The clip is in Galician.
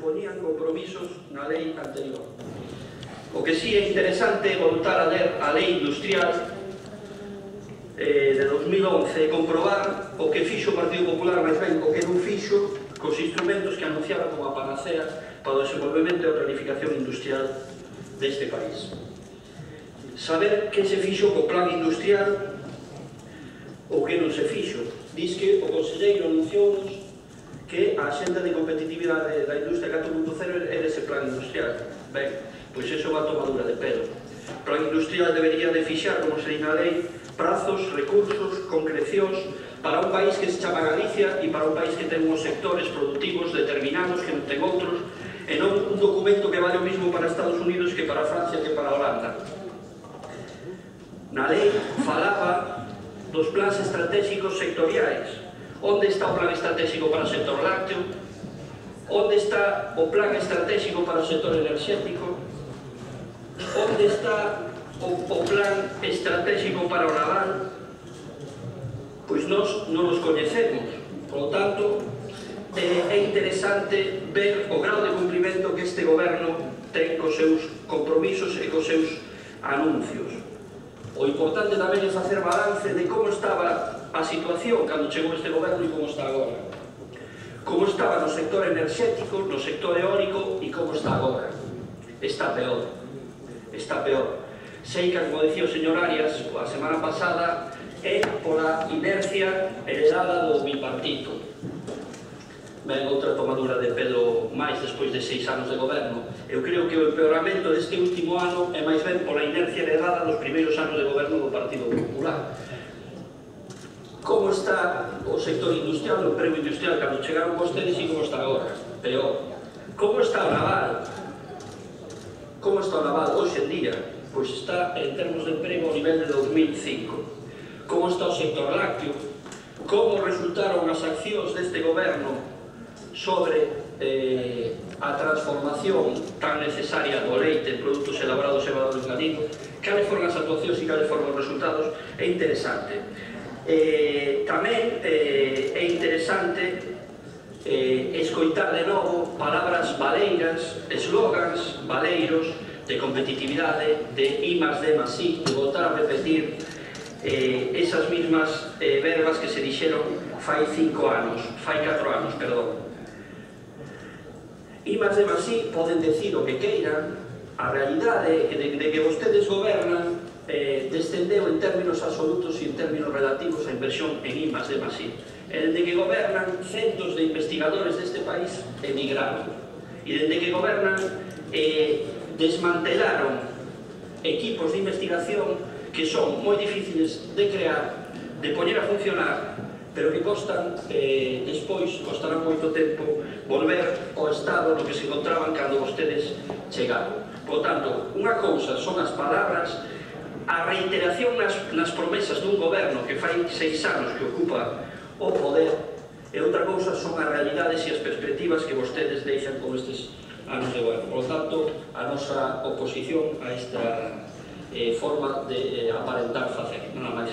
poñían compromisos na lei anterior. O que sí é interesante é voltar a ler a lei industrial de 2011 e comprobar o que fixo o Partido Popular, máis ben o que non fixo cos instrumentos que anunciaba como a panacea para o desenvolvemento e a planificación industrial deste país. Saber que se fixo co plan industrial ou que non se fixo. Diz que o conselleiro anunciounos que a xenda de competitividade da industria 4.0 é dese plan industrial. Ben, pois iso é unha tomadura de pelo. O plan industrial debería de fixar, como se di na lei, prazos, recursos, concrecións para un país que se chama Galicia e para un país que ten uns sectores productivos determinados que non ten outros, e non un documento que vale o mismo para Estados Unidos que para Francia que para Holanda. Na lei falaba dos plans estratégicos sectoriais. Onde está o plan estratégico para o sector lácteo? Onde está o plan estratégico para o sector enerxético? Onde está o plan estratégico para o naval? Pois nós non os coñecemos. Por lo tanto, é interesante ver o grau de cumprimento que este goberno ten cos seus compromisos e cos seus anuncios. O importante tamén é facer balance de como estaba a situación cando chegou este goberno e como está agora. Como estaba no sector enerxético, no sector eólico e como está agora. Está peor. Está peor. Sei que, como decía o señor Arias a semana pasada, é pola inercia heredada do bipartito. Ben, outra tomadura de pelo máis despois de 6 anos de goberno. Eu creo que o empeoramento deste último ano é máis ben pola inercia heredada dos primeiros anos de goberno do Partido Popular. Como está o sector industrial, o emprego industrial cando chegaron vostedes e como está agora? Peor. Como está o naval? Como está o naval hoxe en día? Pois está en termos de emprego ao nivel de 2005. Como está o sector lácteo? Como resultaron as accións deste goberno sobre a transformación tan necesaria do leite en produtos elaborados e valores engadidos? Cales foron as actuacións e cales foron os resultados? É interesante. Tamén é interesante escoitar de novo palabras baleiras, eslogans baleiros de competitividade, de I+D+I, de voltar a repetir esas mismas verbas que se dixeron fai 4 anos, perdón. I+D+I poden decir o que queiran, a realidade de que vostedes gobernan descendeu en términos absolutos e en términos relativos a inversión en I+D+I. Dende que gobernan, centos de investigadores deste país emigraron. E dende que gobernan, desmantelaron equipos de investigación que son moi difíciles de crear, de poñer a funcionar, pero que costarán moito tempo volver ao estado no que se encontraban cando vostedes chegaron. Por tanto, unha cousa son as palabras, a reiteración nas promesas dun goberno que fai 6 anos que ocupa o poder, e outra cousa son as realidades e as perspectivas que vostedes deixan con estes anos de goberno. Por tanto, a nosa oposición a esta forma de aparentar facer. Nada máis.